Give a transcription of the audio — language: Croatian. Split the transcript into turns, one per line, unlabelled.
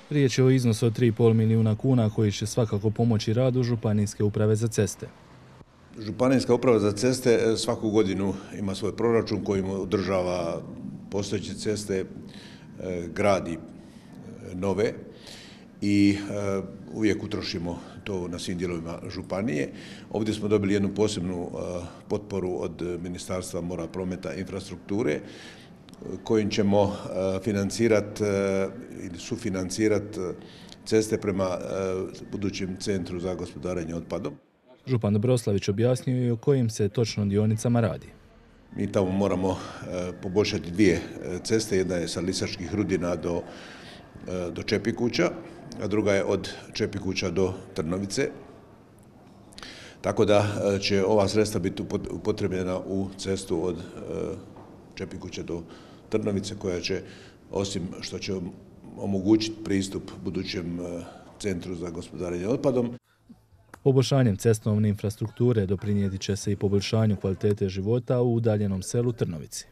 Riječ je o iznosu od 3,5 milijuna kuna koji će svakako pomoći radu Županijske uprave za ceste.
Županijska uprava za ceste svaku godinu ima svoj proračun kojim održava postojeće ceste, gradi nove i uvijek utrošimo to na svim dijelovima županije. Ovdje smo dobili jednu posebnu potporu od Ministarstva mora, prometa i infrastrukture kojim ćemo financirati ili sufinancirati ceste prema budućem centru za gospodarenje otpadom.
Župan Dobroslavić objasnio je o kojim se točno dionicama radi.
Mi tamo moramo poboljšati dvije ceste, jedna je sa Lisačkih Rudina do Čepikuća, a druga je od Čepikuća do Trnovice. Tako da će ova sredstva biti upotrebljena u cestu od Čepikuća do Trnovice koja će, osim što će omogućiti pristup budućem centru za gospodarenje otpadom.
Poboljšanjem cestovne infrastrukture doprinijeti će se i poboljšanju kvalitete života u udaljenom selu Trnovici.